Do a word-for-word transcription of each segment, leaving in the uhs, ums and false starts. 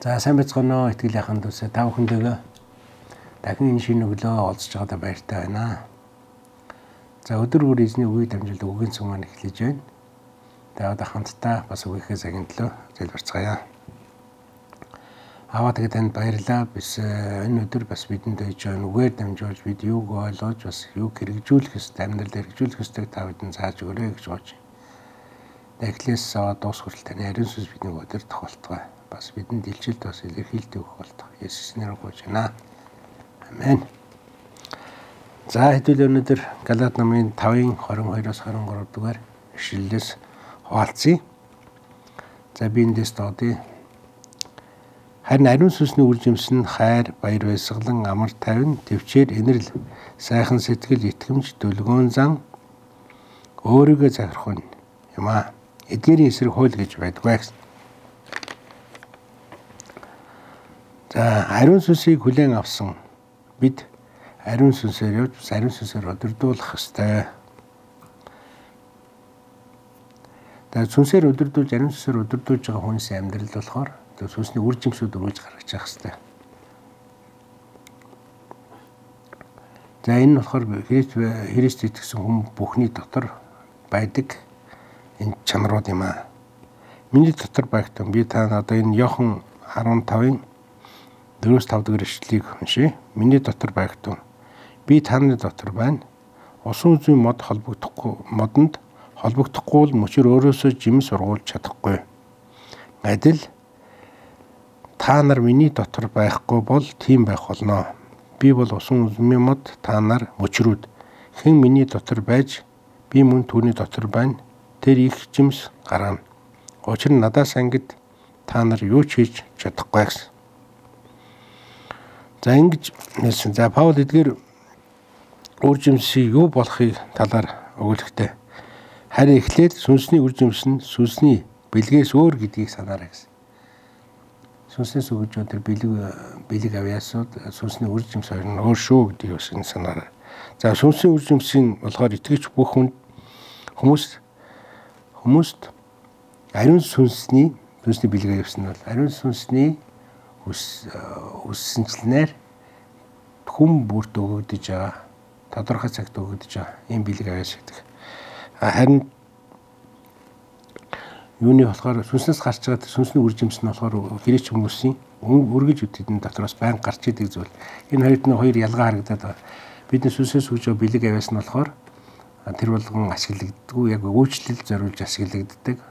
За сайн бацгаана итгэл яхан дүүсээ та бүхэндээ дахин энэ шинэ өглөө олзж байгаадаа баяртай байна. За өдөр бүр эзний үгийг дамжуулан үгийн цэм маань эхлэж байна. Тэгээд одоо хамтдаа бас үгийнхээ цагийн төлөө залбирцгаая. Аваа тэгээд танд баярлалаа. Бид энэ өдөр бас бидэнд өгж байгаа үгээр дамжуулж бид юуг ойлгож бас юуг хэрэгжүүлэх ёстой, амьдралд хэрэгжүүлэх ёстойг та бидэнд зааж өгөөрэй гэж бодож байна. Эхлээс аваад дуус хүртэл таны ариун сүнс бидний өдөр тохиолдгоо. Бас бидэнд илчилт бас илэрхийлдэг болтох. Есүс нэрээр гуйж байна. Амен. За хэдүүл өнөөдөр Галаат номын тавын двадцать two-оос двадцать three дугаар ишлэлээс хуваалцъя. За би эндээс доодъя. Харин ариун сүнсний үр жимс нь хайр, баяр баясгалан, амар тайван, төвчээр, инэрл, сайхан сэтгэл, итгэмж, дүлгөөн зан өөрийгөө захирах нь юм аа. Эдгээрийн эсрэг хууль гэж байдгүй. За ариун сүнсийг хүлээн авсан бид ариун сүнсээр явж ариун сүнсээр өдөрдүүлэх ёстой. Тэгээд сүнсээр өдөрдүүлж ариун сүнсээр өдөрдүүлж байгаа хүнээс амьдрал болохоор тэгээд сүнсний үр жимсүүд өргөж гаргаж явах ёстой. За энэ нь болохоор Христ итгэсэн хүн бүхний дотор байдаг энэ чанарууд юм аа. Миний дотор байгтан би та одоо энэ Иохан fifteen-ийн four-five дахь ишлэлийг уншия. Миний дотор байгтун. Би таны дотор байна. Усан үзмийн мод холбогдохгүй модонд холбогдохгүй бол мөчөр өөрөөсөө жимс ургуулж чадахгүй. Адил та нар миний дотор байхгүй бол тийм байх болно. Би бол усан үзмийн мод, та нар мөчрүүд. Хэн миний дотор байж би мөн түүний дотор байна. Тэр их жимс гаргана. Учир нь надаас ангид та нар юу ч хийж чадахгүй гэсэн. За ингэж нэлсэн. За Паул эдгээр үр жимсийн юу болохыг талаар өгүүлэхтэй. Харин эхлээд сүнсний үр жимс нь сүнсний бэлгээс өөр гэдгийг санаарай гэсэн. Сүнснээс өгж байгаа тэр бэлэг бэлэг авьяасууд сүнсний үр жимс хоёр нь өөр шүү гэдгийг бас санаарай. За сүнсний үр жимсийн болохоор итгэж бүх хүн хүмүүс хүмүүст ариун сүнсний сүнсний бэлэг авьяасан нь бол ариун сүнсний үссэнчлэнээр хүм бүрт өгөгдөж байгаа тодорхой цагт өгөгдөж байгаа ийм бэлэг авьяас гэдэг. Харин юуны болохоор сүнснээс гарч байгаа сүнсний үр жимс нь болохоор грек хүмүүсийн үргэж үтгэдэн дотроос байн гарч идэг зүйл. Энэ хоёрт нь хоёр ялгаа харагдаад байгаа. Бидний сүнсээс өгж байгаа бэлэг авьяас нь болохоор тэр болгон ашиглагддаггүй яг үйлчлэл зориулж ашиглагддаг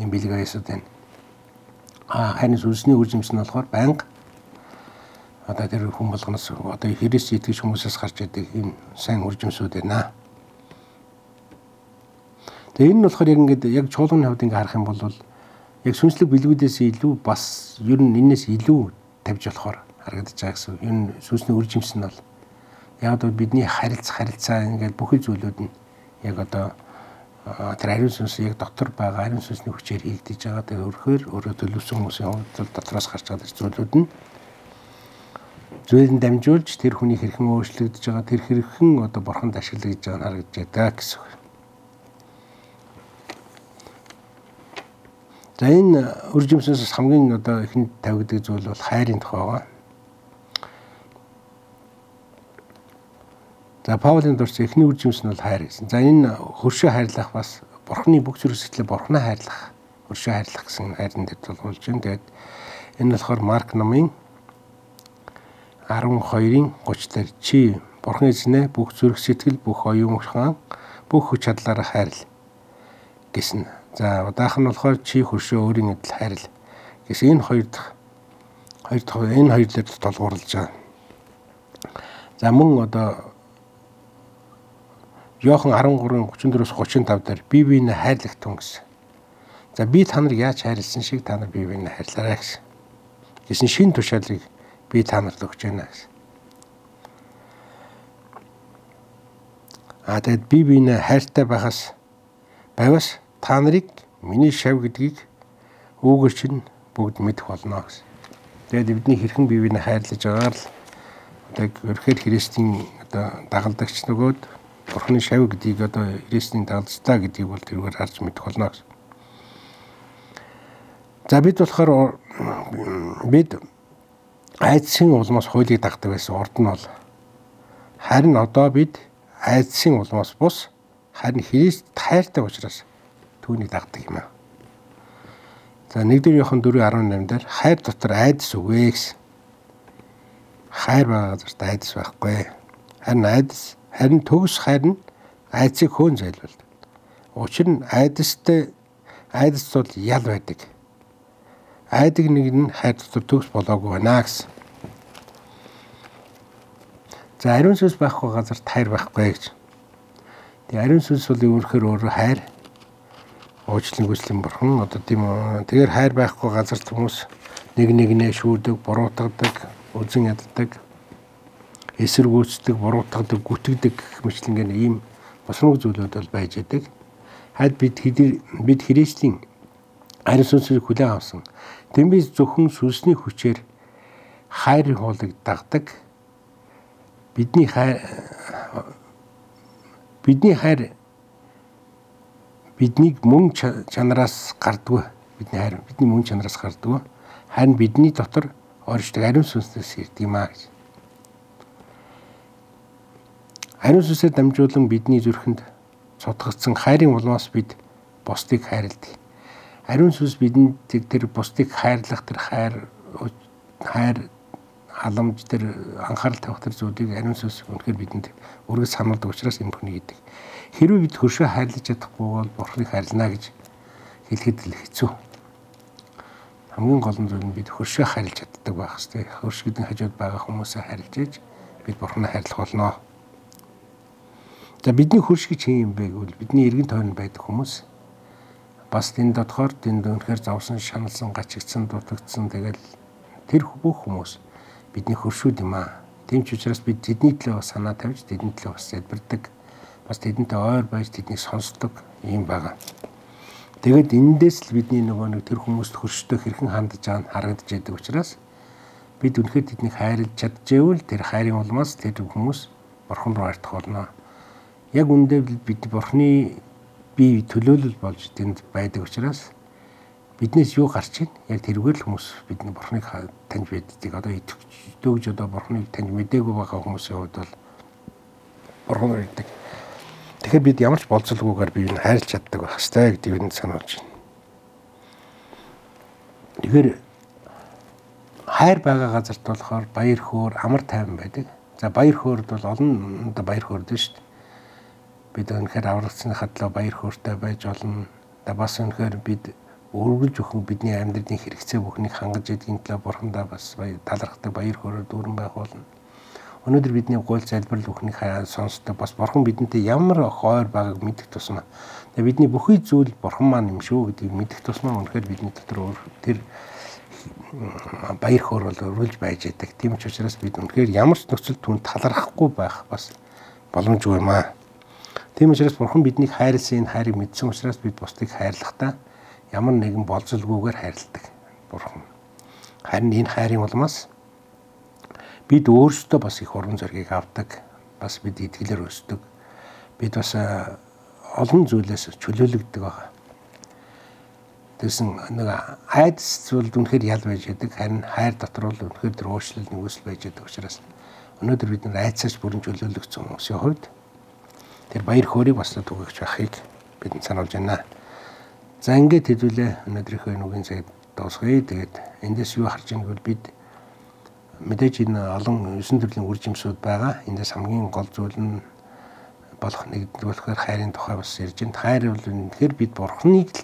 ийм бэлэг авьяасууд байна. А харин сүнсний үр жимс нь болохоор байнга одоо тэр хүн болгоноос одоо Христ итгэж хүмүүсээс гарч идэг ийм сайн үр жимсүүд байна. Тэгээ энэ нь болохоор яг ингээд яг чуулганы хувьд ингээд харах юм бол яг сүнслэг бэлгүүдээс илүү бас ер нь энэс илүү тавьж болохоор харагдаж байгаа гэсэн. Ер нь сүнсний үр жимс нь бол яг одоо бидний харилцах харилцаа ингээд бүхэл зүйлүүд нь яг одоо тэр ариун сүнс яг дотор байгаа ариун сүнсний хүчээр хийгдэж байгаа. Тэгээ өөрөөр өөрөө төлөвсөн хүмүүсийн хувьд дотроос гарч байгаа зүйлүүд нь зүйлэн дамжуулж тэр хүний хэрхэн өөрчлөгдөж байгаа тэр хэрхэн одоо бурханд ашиглагдж байгааг нь харагдаж байгаа гэсэн. За энэ үр жимсээс хамгийн одоо ихэнд тавигддаг зүйл бол хайрын тухай байгаа. За Паулийн дурч эхний үр жимс нь бол хайр гэсэн. За энэ хөршөө хайрлах бас бурхны бүх зүрх сэтгэлээ бурхнаа хайрлах, хөршөө хайрлах гэсэн хайрын дэд тулгуулж байна. Тэгээд энэ болохоор Марк номын twelve-ийн thirty дээр чи бурхан эзнээ бүх зүрх сэтгэл, бүх оюун ухаан, бүх хүч чадлаараа хайрл гэсэн. За удаах нь болохоор чи хөршөө өөрийн адил хайрл гэсэн. Энэ хоёр дахь хоёр дахь энэ хоёр дээр тулгуурлаж байгаа. За мөн одоо Иохан thirteen thirty-four-thirty-five дээр бие биенээ хайрлах тун гэсэн. За би та нар яаж хайрлсан шиг та нар бие биенээ хайрлаарай гэсэн. Гэсэн шин тушаалыг би та нарт өгч байна гэсэн. А тэгэд бие биенээ хайртай байхаас байвас та нарыг миний шав гэдгийг үүгээр чинь бүгд мэдэх болно гэсэн. Тэгээд бидний хэрхэн бие биенээ хайрлаж байгаагаар л одоо ерхээр Христийн одоо дагалдагч нөгөөд Бурхны шав гэдгийг одоо Христийн дагалдтаа гэдгийг бол тэргээр харж мэдэх болно гэсэн. За бид болохоор бид айдсын улмаас хуулийг дагдаг байсан урд нь бол харин одоо бид айдсын улмаас бус харин Христ хайртай учраас түүнийг дагдаг юм аа. За нэгдүгээр Иохан дөрвөн арван наймын дээр хайр дотор айдас үгүй гэсэн. Хайр байгаа газарт айдас байхгүй. Харин айдас харин төгс хайр нь айдсыг хөөн зайлуулдаг. Учир нь айдастай айдас бол ял байдаг. Айдаг нэг нь хайр дотор төгс болоогүй байна гэсэн. За ариун сүнс байхгүй газарт хайр байхгүй гэж. Тэгээ ариун сүнс бол өөрөөр өөрөөр хайр уучлалын гүйцэтгэлийн бурхан одоо тийм үү. Тэгэхээр хайр байхгүй газарт хүмүүс нэг нэгнээ шүүдэг, буруутгадаг, үзэн яддаг, эсэргүүцдэг, буруутгадаг, гүтгдэг гэх мэтлэн ийм босмог зүйлүүд бол байж байдаг. Хаад бид бид Христийн ариун сүнсийг хүлээн авсан. Тэмээс зөвхөн сүнсний хүчээр хайрын хуулийг дагдаг. Бидний хайр бидний хайр биднийг мөн чанараас гардгүй. Бидний хайр бидний мөн чанараас гардгүй. Харин бидний дотор оршдог ариун сүнснээс ирдэг юм аа гэж. Ариун сүнсээр дамжуулан бидний зүрхэнд цутгагдсан хайрын улмаас бид бусдыг хайрладаг. Ариун сүнс бидэнд тэр бусдыг хайрлах тэр хайр хайр халамж тэр анхаарал тавих тэр зүйлийг ариун сүнс үнэхээр бидэнд үргэлж сануулдаг учраас энэ бүхнийг хийдэг. Хэрвээ бид хөршөө хайрлаж чадахгүй бол Бурхныг хайрлана гэж хэлэхэд л хэцүү. Хамгийн гол нь зүйл нь бид хөршөө хайрлаж чаддаг байх хэрэгтэй. Хөрш гэдэг хажууд байгаа хүмүүсээ хайрлаж ээж бид Бурхныг хайрлах болно. За бидний хөрш гэж хэм юм бэ гэвэл бидний эргэн тойронд байдаг хүмүүс бас энэ дотохоор тэнд үнэхээр завсан, шаналсан, гачигдсан, дутагдсан тэгэл тэр бүх хүмүүс бидний хөршүүд юм аа. Тийм ч учраас бид тэдний төлөө бас санаа тавьж тэдний төлөө бас залбирдаг. Бас тэдэнтэй ойр байж тэднийг сонсдог юм байгаа. Тэгэд эндээс л бидний нөгөө нэг тэр хүмүүст хөрштэй хэрхэн хандж байгаа нь харагдаж байдаг учраас бид үнэхээр тэднийг хайрлаж чадчихвэл тэр хайрын улмаас тэр хүмүүс Бурхан руу артах болно. Яг үндэ бид Бурханы бие төлөөлөл болж тэнд байдаг учраас биднээс юу гарч ийн яг тэрүүгээр л хүмүүс бидний Бурханыг таньж байдгийг одоо итгэж одоо Бурханыг таньж мэдээгүй байгаа хүмүүсийн хувьд бол Бурхан гэдэг. Тэгэхээр бид ямар ч болцолгүйгээр биеийг хайрлаж чаддаг байх хэрэгтэй гэдгийг бид сануулж байна. Тэгэхээр хайр байгаа газарт болохоор баяр хөөр амар тайван байдаг. За баяр хөөрд бол олон одоо баяр хөөрд шүү дээ. Бид өнөхөр аврагцсныхаа төлөө баяр хөөртэй байж болно. Да бас өнөхөр бид үргэлж өхөн бидний амьдралын хэрэгцээ бүхнийг хангаж идэгний төлөө Бурхандаа бас талархдаг баяр хөөрөөр дүүрэн байх болно. Өнөөдөр бидний гол залбирал бүхнийг сонсдог бас Бурхан бидэнтэй ямар хойр байгааг мэдэх тусмаа. Тэгээ бидний бүхий зүйл Бурхан маань юм шүү гэдгийг мэдэх тусмаа өнөхөр бидний дотор тэр баяр хөөр бол өргөлж байж байдаг. Тийм ч учраас бид өнөхөр ямар ч нөхцөл түн талархахгүй байх бас боломжгүй юм аа. Тийм учраас Бурхан биднийг хайрлсан энэ хайрыг мэдсэн учраас бид бусдыг хайрлахдаа ямар нэгэн болцолгүйгээр хайрладаг Бурхан. Харин энэ хайрын улмаас бид өөрсдөө бас их уран зориг авдаг. Бас бид итгэлээр өсдөг. Бид бас олон зүйлээс чөлөөлөгдөг байгаа. Тэгсэн нэг айдас зүйл үнэхээр ял байж байдаг. Харин хайр дотор бол үнэхээр тэр уучлал нэгүсэл байж байдаг учраас өнөөдөр бид нар айдсаас бүрэн чөлөөлөгдсөн хүмүүсийн хувьд тэр баяр хөөргийг бас түгээгч байхыг бид сануулж байна. За ингээд хэдүүлээ өнөөдрийнхөө нүгийн цагт дуусгая. Тэгээд эндээс юу харж байгааг бол бид мэдээж энэ олон есөн төрлийн үр жимсүүд байгаа. Эндээс хамгийн гол зүйл нь болох нэгдүгээр хайрын тухай бас ярьж байна. Хайр бол үнэхээр бид Бурханыг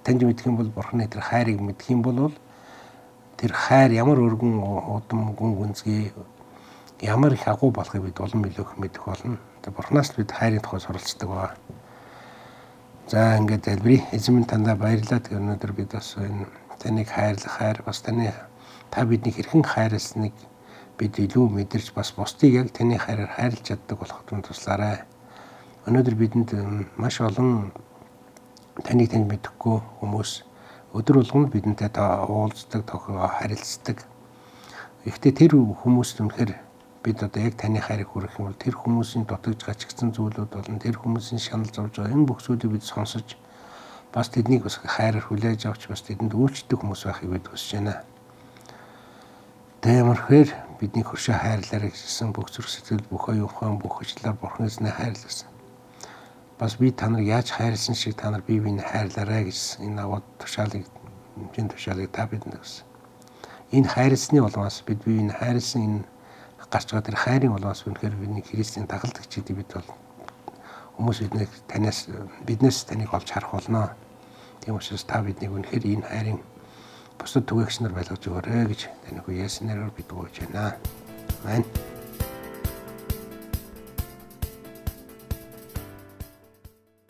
таньж мэдэх юм бол Бурханы тэр хайрыг мэдэх юм бол тэр хайр ямар өргөн удам гүн гүнзгий ямар их агуу болохыг бид улам илүү мэдэх болно. Тэр Бурханаас бид хайрын тухай суралцдаг ба. За ингээд залбирая. Эзэн минь тандаа баярлалаа. Тэр өнөөдөр бид бас энэ таныг хайрлах хайр бас таны та бидний хэрхэн хайрласныг бид илүү мэдэрч бас бусдыг яг таны хайраар хайрлаж чаддаг болоход туслаарай. Өнөөдөр бидэнд маш олон таныг таньж мэдэхгүй хүмүүс өдөр болгонд бидэнтэй уулздаг, тохиогоо харилцдаг. Гэхдээ тэр хүмүүст үнэхээр бид одоо яг таны хайрыг хүргэх юм бол тэр хүмүүсийн дутагдж гачигдсан зүйлүүд болон тэр хүмүүсийн шанал зовж байгаа энэ бүх зүйлийг бид сонсож бас тэднийг бас хайраар хүлээж авч бас тэдэнд үйлчлдэг хүмүүс байхыг бид хүсэж байна. Тэмэрхээр бидний хөршөө хайрлаарай гэсэн бүх зүрх сэтгэл бүх оюухан бүх хүчлээр Бурханаас нь хайрласан. Бас би та нарыг яаж хайрлсан шиг та нар бие биенээ хайрлаарай гэсэн энэ аваад тушаалыг энэ тушаалыг та бидэнд өгсөн. Энэ хайрлсны улмаас бид бие биенээ хайрлсан энэ гарч байгаа тэр хайрын улмаас үнэхээр бидний Христийн дагалдагчдыг бид бол хүмүүс биднийг танаас биднээс таныг олж харах болно. Тийм учраас та биднийг үнэхээр энэ хайрын бусад түгээгч нар байлгаж өгөөрэй гэж таныг Есүс нэрээр бид гуйж байна. Амен.